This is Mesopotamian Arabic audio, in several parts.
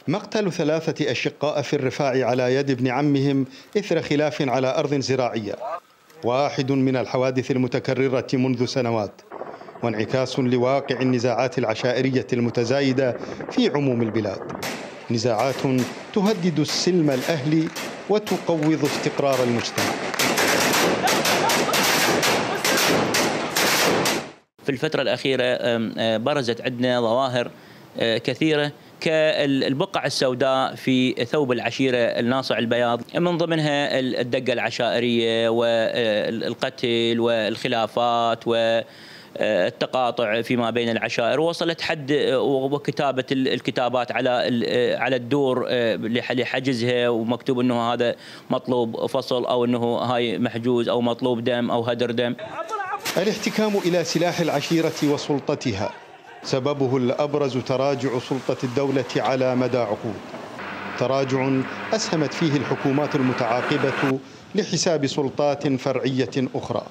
مقتل 3 أشقاء في الرفاع على يد ابن عمهم إثر خلاف على أرض زراعية، واحد من الحوادث المتكررة منذ سنوات، وانعكاس لواقع النزاعات العشائرية المتزايدة في عموم البلاد، نزاعات تهدد السلم الأهلي وتقوض استقرار المجتمع. في الفترة الأخيرة برزت عندنا ظواهر كثيرة كالبقع السوداء في ثوب العشيرة الناصع البياض، من ضمنها الدقة العشائرية والقتل والخلافات والتقاطع فيما بين العشائر، وصلت حد وكتابة الكتابات على الدور لحجزها، ومكتوب انه هذا مطلوب فصل او انه هاي محجوز او مطلوب دم او هدر دم. الاحتكام إلى سلاح العشيرة وسلطتها سببه الأبرز تراجع سلطة الدولة على مدى عقود، تراجع أسهمت فيه الحكومات المتعاقبة لحساب سلطات فرعية أخرى،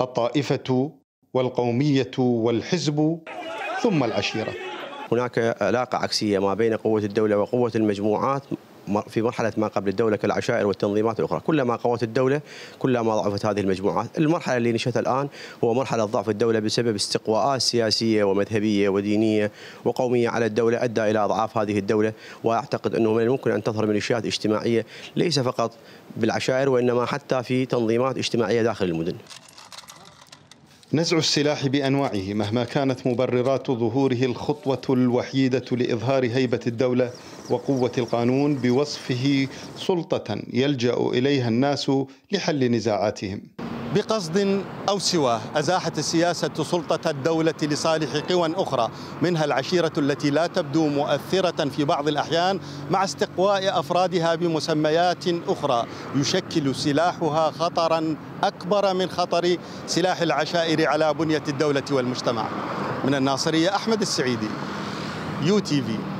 الطائفة والقومية والحزب ثم العشيرة. هناك علاقة عكسية ما بين قوة الدولة وقوة المجموعات في مرحلة ما قبل الدولة كالعشائر والتنظيمات الأخرى. كلما قوت الدولة كلما ضعفت هذه المجموعات. المرحلة اللي نشأت الآن هو مرحلة ضعف الدولة بسبب استقواءات سياسية ومذهبية ودينية وقومية على الدولة أدى إلى أضعاف هذه الدولة، وأعتقد أنه من الممكن أن تظهر ميليشيات اجتماعية ليس فقط بالعشائر وإنما حتى في تنظيمات اجتماعية داخل المدن. نزع السلاح بأنواعه مهما كانت مبررات ظهوره الخطوة الوحيدة لإظهار هيبة الدولة وقوة القانون بوصفه سلطة يلجأ إليها الناس لحل نزاعاتهم. بقصد أو سواه أزاحت السياسة سلطة الدولة لصالح قوى أخرى، منها العشيرة التي لا تبدو مؤثرة في بعض الأحيان مع استقواء أفرادها بمسميات أخرى يشكل سلاحها خطرا أكبر من خطر سلاح العشائر على بنية الدولة والمجتمع. من الناصرية، أحمد السعيدي، UTV.